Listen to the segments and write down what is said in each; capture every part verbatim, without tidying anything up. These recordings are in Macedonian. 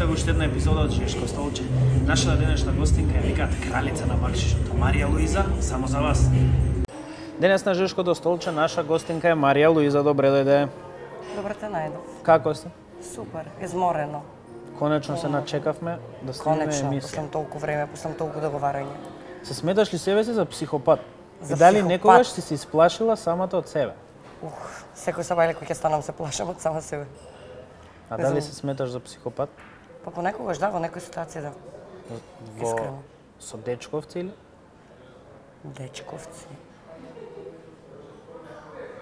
слушате го уште една епизода од Жешко столче. Нашата денешна гостинка е викаат кралица на бакшишот, Марија Луиза, само за вас. Денес на Жешкото столче наша гостинка е Марија Луиза. Добре дојде. Добре те најдов. Како сте? Супер, изморено. Конечно се начекавме да снимеме емисија. Конечно, после толку време, после толку договарање. Се сметаш ли себе си за психопат? За И дали психопат? некогаш си се исплашила самата од себе? Ух, секој сабајле кој ќе станам се плашам од сама себе. А Не дали знам. се сметаш за психопат? Па понекогаш да, во некои ситуации да. Во Искрено. со дечковци или? Дечковци.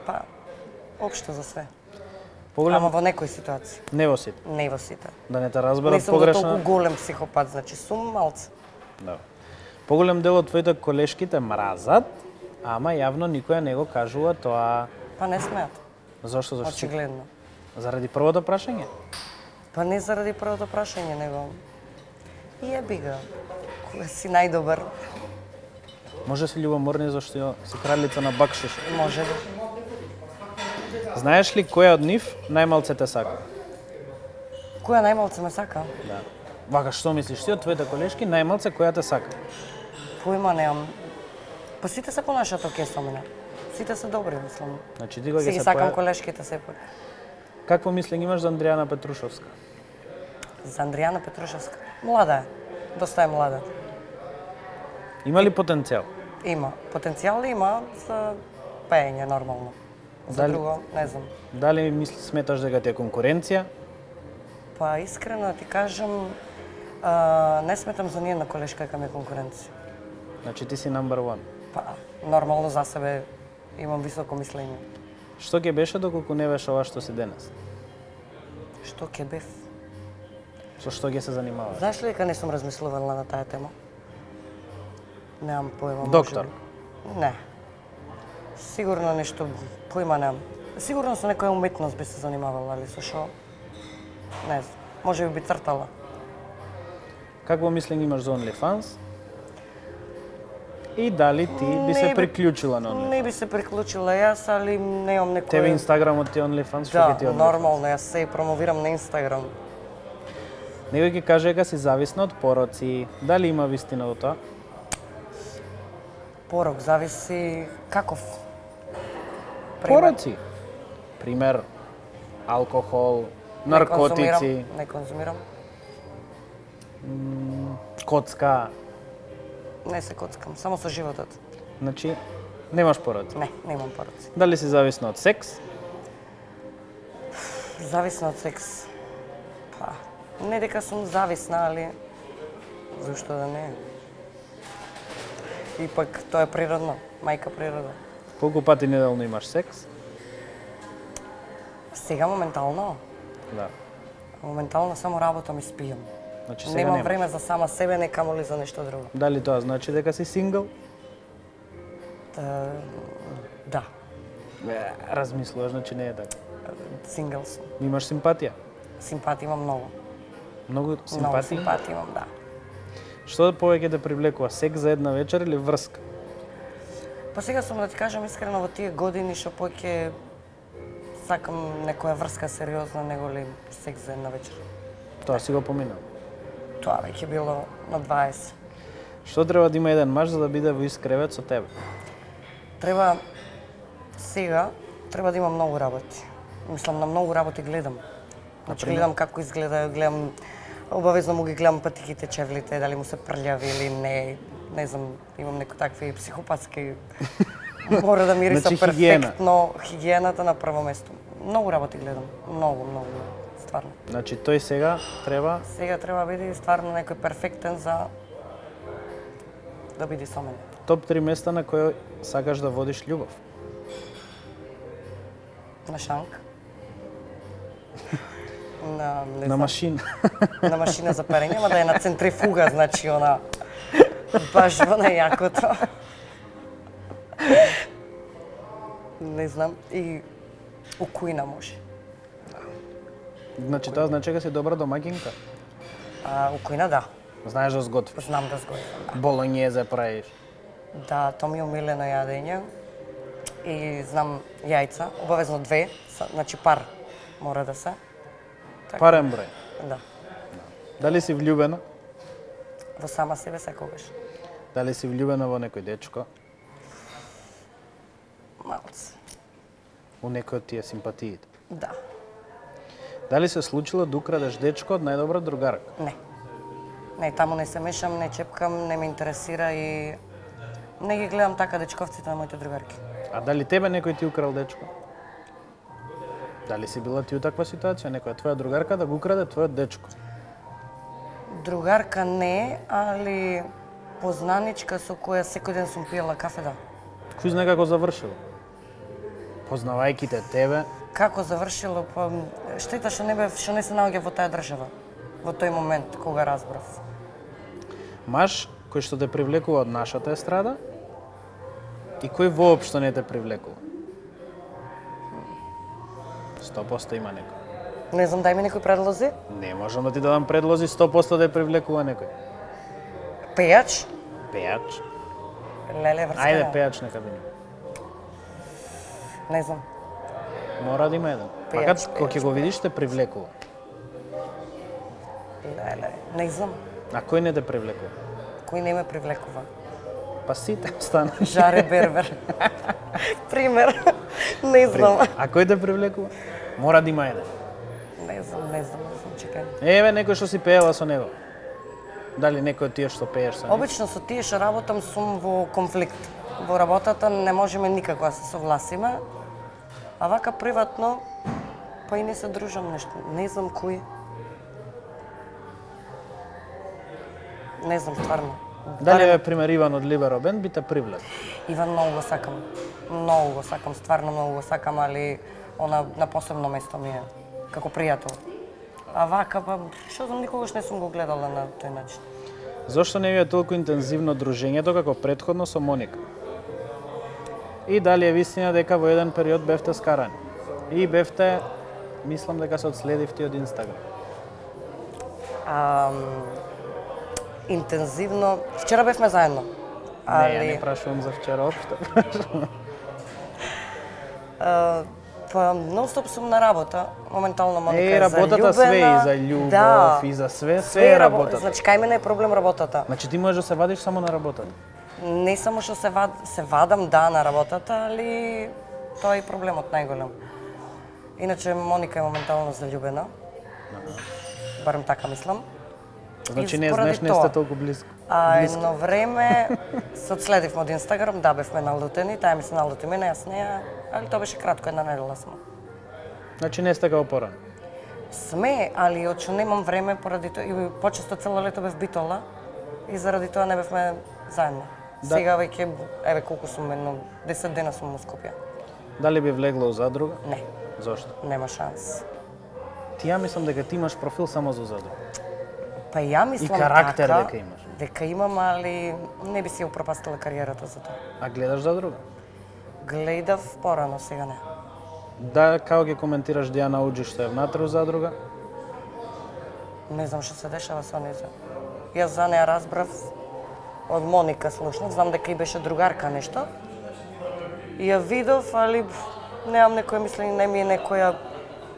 Па, општо за све. Поголем Ама во некои ситуации, не во сите. не во сите. Да не те Не разберат сум за погрешно. толку голем психопат, значи сум малце. Да. Поголем дел од твоите колешки те мразат, ама јавно никоја не го кажува тоа. Па не смеат, Зошто? Зошто? очигледно. Заради првото прашање? Па не заради првото прашање, него јеби ga, кога си најдобар, Може си љубоморни зашто си кралица на бакшиш. може да. Знаеш ли која од нив најмалце те сака? Која најмалце ме сака? Да. Вака, што мислиш ти од твоите колешки најмалце која те сака? Појма немам. Па сите се понашаат оке со мене. Сите се добри, мислам. Значи ти кога Си ќе ги се сакам поја... колешките сепак. Какво мислење имаш за Андријана Петрушовска? За Андријана Петрушевска. Млада е. Доста е млада. Има ли потенцијал? Има. Потенцијал има за пеење нормално. За Дали- друго, не знам. Дали мисли сметаш дека ти е конкуренција? Па искрено да ти кажам, а, не сметам за ниједна колешка дека ми е конкуренција. Значи ти си number one. Па, нормално за себе имам високо мислење. Што ќе беше доколку не беше ова што си денес? Што ќе бев? Со што ќе се занимаваш? Знаеш ли дека не сум размислувала на таа тема? Немам појма. Доктор? можеби. Не. Сигурно нешто, појма немам. Сигурно со некоја уметност би се занимавала, али со шо? Не знам. Може би би цртала. Какво мислење имаш за OnlyFans? И дали ти би се Не би- приклучила на OnlyFans? Не би се приклучила јас, али немам некој... Тебе Инстаграмот ти е OnlyFans, што ќе ти Да, е OnlyFans? нормално, јас се и промовирам на Инстаграм. Некој ќе каже дека си зависна од пороци. Дали има вистина до тоа? Порок зависи каков. Пример. Пороци. Пример, алкохол, Не наркотици, конзумирам, Не конзумирам. коцка. Не се коцкам, само со животот. Значи, немаш пороци. Не, немам пороци. Дали си зависна од секс? Зависна од секс. Па, не дека сум зависна, али зашто да не? Ипак тоа е природно, мајка природа. Колку пати неделно имаш секс? Сега моментално, Да. моментално само работам и спијам. Значи сега Немам немаш. време за сама себе, не камоли за нешто друго. Дали тоа значи дека си сингл? Та, да, Не, размислуваш, значи не е така. сингл сум. Имаш симпатија? Симпатија имам многу. Многу Многу симпатија? симпатија имам, да. Што повеќе те привлекува, секс за една вечер или врска? Па сега сум да ти кажам искрено во тие години што поќе сакам некоја врска сериозна, него ли секс за една вечер. Тоа си го поминал. Тоа веќе било на дваесет. Што треба да има еден маж за да биде во ист кревет со тебе? Треба сега треба да има многу работи. Мислам на многу работи гледам. Значи Например? гледам како изгледа, гледам обавезно му ги гледам патиките, чевлите, дали му се прљави или не. Не знам, имам некои такви психопатски мора да мириса Значи, хигиена. перфектно, хигиената на прво место. Многу работи гледам, многу, многу, стварно. Значи тој сега треба Сега треба да биде стварно некој перфектен за да биде со мене. топ три места на кои сакаш да водиш љубов. На шанк. На, не На знам, машина. на машина за перење, ама да е на центрифуга, значи она баш во најакото. Не знам, и у кујна може. Значи тоа значи дека си добра домаќинка. А, у кујна да, Знаеш да сготвиш. знам да сготвам. Болонјезе правиш. Да, тоа ми е умилено јадење. И знам јајца, обавезно две, са- значи пар мора да се. Така. Парен број. Да. Дали си влюбена? Во сама себе секогаш. Дали си влюбена во некој дечко? Малце. У некој од тие симпатиите? Да. Дали се случило да украдеш дечко од најдобра другарка? Не. Не, таму не се мешам, не чепкам, не ме интересира и не ги гледам така дечковците на моите другарки. А дали тебе некој ти украл дечко? Дали си била ти у таква ситуација, некоја твоја другарка да го украде твојот дечко? Другарка не, али познаничка со која секој ден сум пиела кафе, да. Кој знае како завршило? Познавајќи те тебе? Како завршило, па штета што не бев, што не се наоѓа во таа држава, во тој момент кога разбрав. Маж кој што те привлекува од нашата естрада и кој воопшто не те привлекува? сто проценти има некој. Не знам, дај ми некои предлози. Не можам да ти дадам предлози, сто проценти да те привлекува некој. Пејач? Пејач? Леле, врска. Ајде, пејач нека биде. Не знам. Мора да има еден. Пејач, Макар пејач, кога ќе го видиш те привлекува. Леле, не знам. А кој не те привлекува? Кој не ме привлекува? Па сите стана. Жаре Бербер. Пример. Не знам. А кој те привлекува? Мора да има еден. Не знам, не знам, не знам, чекај. Еве некој што си пеела со него. Дали некој од тие што пееш со него? Обично со тие што работам сум во конфликт. Во работата не можеме никако да се согласиме. А вака приватно, па и не се дружам нешто. Не знам кој. Не знам, стварно. Дали е пример Иван од Либеро Бенд би те привлек? Иван многу го сакам. Многу го сакам, стварно многу го сакам, али она на посебно место ми е, како пријател. А вака, па, што знам, никогаш не сум го гледала на тој начин. Зошто не ви е толку интензивно дружењето како претходно со Моника? И дали е вистина дека во еден период бевте скарани? И бевте, мислам дека се одследивте од Инстаграм. А, интензивно, вчера бевме заедно. Али... Не, ја не прашувам за вчера општо. Uh, па, нон-стоп сум на работа. Моментално Моника е, е работата заљубена. све и за љубов, да, и за све, све е работата. Значи, кај мене е проблем работата. Значи ти можеш да се вадиш само на работата? Не само што се, вад, се вадам, да, на работата, али тоа е проблемот најголем. Иначе Моника е моментално заљубена. Барем така мислам. Значи не знаеш, не сте толку близко. А едно време се одследивме од Инстаграм, да, бевме налутени, таа ми се налути мене, јас неа, али тоа беше кратко, една недела смо. Значи не сте како порано? Сме, али очу немам време поради тоа, и почесто цело лето бев битола и заради тоа не бевме заедно. Да. Сега веќе, еве колку сум, едно десет дена сум во Скопје. Дали би влегла у задруга? Не. Зошто? Нема шанс. Ти ја мислам дека ти имаш профил само за задруга. Па ја мислам и карактер така, дека имаш. Дека имам, али не би си упропастила кариерата за тоа. А гледаш задруга? Гледав порано, сега не. Да, како ќе коментираш Дијана Уџи што е внатре у задруга? Не знам што се дешава со неја. Јас за неја разбрав од Моника слушнав, знам дека и беше другарка нешто. И ја видов, али немам некоја мислење, не ми е некоја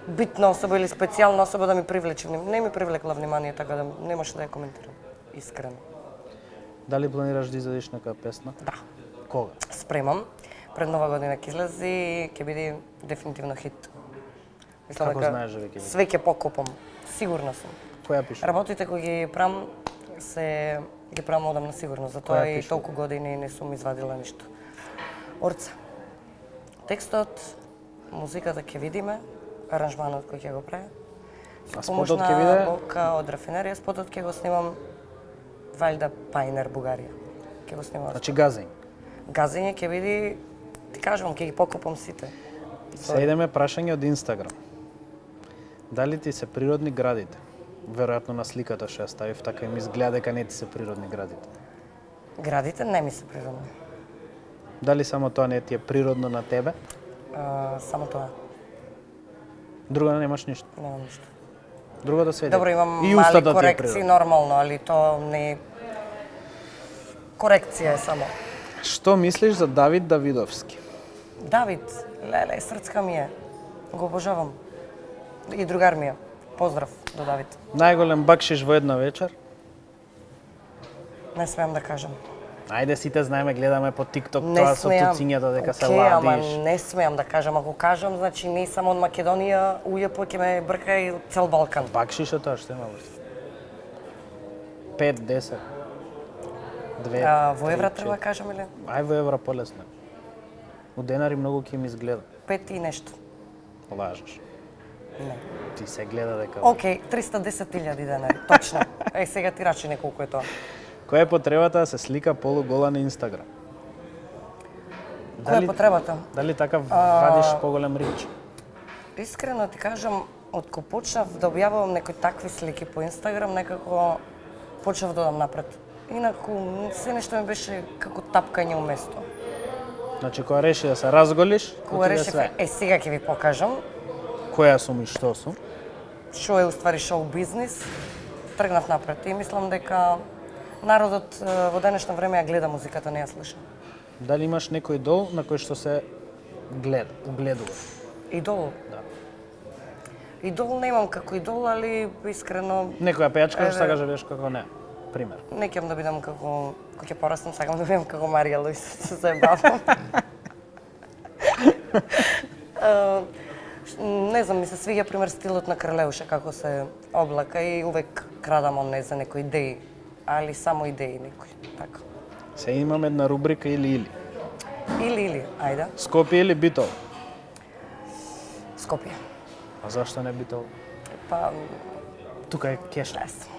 битна особа или специјална особа да ми привлече внимание. Не ми привлекла внимание, така да не може да ја коментирам. Искрено. Дали планираш да изедеш нека песна? Да. Кога? Спремам. Пред нова година ќе излезе и ќе биде дефинитивно хит. Мислам како дека знаеш дека ќе биде? Све ќе покопам. Сигурна сум. Која пише? Работите кои ги правам се ги правам одамна сигурно, затоа и толку години не сум извадила ништо. Орца. Текстот, музиката ќе видиме, аранжманот кој ќе го прави. А спотот ќе биде? Бока од Рафинерија, спотот ќе го снимам Валјда Пайнер, Бугарија. Ќе го снимам. Значи газење. Газење ќе биде, ти кажувам, ќе ги покопам сите. Се идеме прашање од Инстаграм. Дали ти се природни градите? Веројатно на сликата што ја ставив, така и ми изгледа дека не ти се природни градите. Градите не ми се природни. Дали само тоа не ти е природно на тебе? А, само тоа. Друго немаш ништо? Немам ништо. Друго да сведе? Добро, имам и мали да корекции нормално, али тоа не е... Корекција е само. Што мислиш за Давид Давидовски? Давид, леле, срцка ми е. Го обожавам. И другар ми е. поздрав до Давид. Најголем бакшиш во една вечер? Не смеам да кажам. Ајде, сите знаеме, гледаме по TikTok Не тоа со смеам. туцињата дека се Океј, ама ладиш. не смеам да кажам. Ако кажам, значи не само од Македонија, ујепо ќе ме брка и цел Балкан. Бакшиш е тоа што има врз. пет, десет, две, А, во евра три, треба да четири. кажам или? Ај во евра полесно. У денари многу ќе ми изгледа. Пет и нешто. Лажеш. Не. Ти се гледа дека... Океј, триста и десет илјади денари, точно. Е, сега ти рачи неколку е тоа. Која е потребата да се слика полугола на Инстаграм? Која е потребата? Дали така А, вадиш поголем рич? Искрено ти кажам, откако почнав да објавувам некои такви слики по Инстаграм, некако почнав да одам напред. Инаку, се нешто ми беше како тапкање уместо. Значи, кога реши да се разголиш, Кога отиде решив, све. е, сега ќе ви покажам Која сум и што сум? што е уствари шоу бизнис, тргнав напред и мислам дека народот е, во денешно време ја гледа музиката, не ја слуша. Дали имаш некој идол на кој што се гледа, угледува? Идол? Да. Идол немам како идол, али искрено Некоја пејачка што Еве. сакаш да бидеш како не. Пример. не ќе да бидам како кога ќе пораснам, сакам да бидам како Марија Луис, се заебавам. Е, Не знам, ми се свиѓа пример стилот на Кралеуша како се облака и увек крадам од не за некои идеи, али само идеи некои, така. Се имам една рубрика или-или. Или или, ајде, Скопје или Битол? Скопје. А зашто не Битол? Па, Тука е кеш. не знам.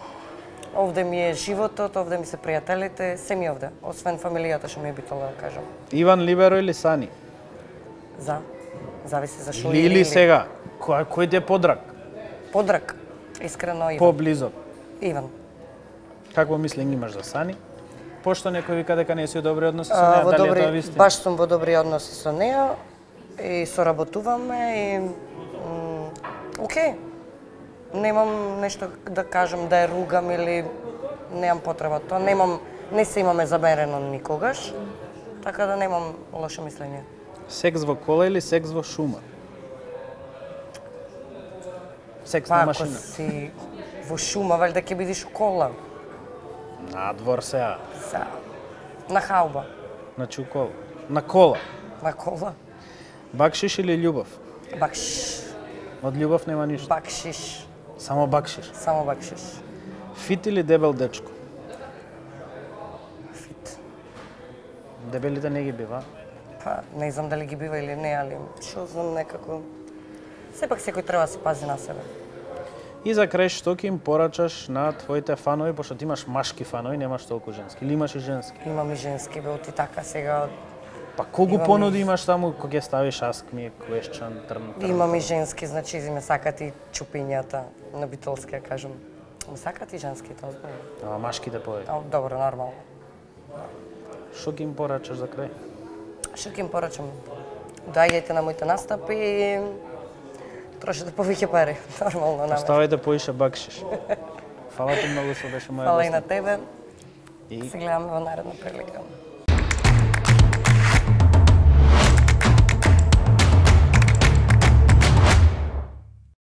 Овде ми е животот, овде ми се пријателите, се ми овде, освен фамилијата што ми е битола да кажам. Иван Либеро или Сани? За, зависи за шо Или, или сега, кој, кој ти е подрак? Подрак, искрено Иван. Поблизок. Иван. Какво мислење имаш за Сани? Пошто некој вика дека не си у добри односи со А, неа, во дали е добри, тоа вистина? баш сум во добри односи со неа и соработуваме и м, окей. Немам нешто да кажам да ја ругам или немам потреба тоа. Немам, не се имаме замерено никогаш, така да немам лошо мислење. Секс во кола или секс во шума? Секс Па на ако машина. си во шума, валјда ќе бидиш у кола. Надвор сега. Са, на хауба, Значи у кола. На кола. на кола. Бакшиш или љубов? Бакшиш, Од љубов нема ништо. бакшиш, Само бакшиш. само бакшиш. Фит или дебел дечко? Фит. Дебелите не ги бива. Па, не знам дали ги бива или не, али што знам некако... Сепак секој треба да се пази на себе. И за крај, што ќе им порачаш на твоите фанови, пошто ти имаш машки фанови, немаш толку женски. Или имаш и женски? Имам и женски, бе, оти така сега... Па колку Имам понуди и- имаш таму кога ќе ставиш ask me a question, трн, трн. Имам и женски, значи ме сакат и чупињата на битолски, ја кажам. Ме сакат и женските, озбилно. Ама машките повеќе. А, добро, нормално. Што ќе им порачаш за крај? Што ќе им порачам? Доаѓајте на моите настапи и трошете повеќе пари. Нормално, нормално. Оставајте поише бакшиш. Фала ти многу што беше моја Фала и гостина. на тебе. И Се гледаме во наредна прилика.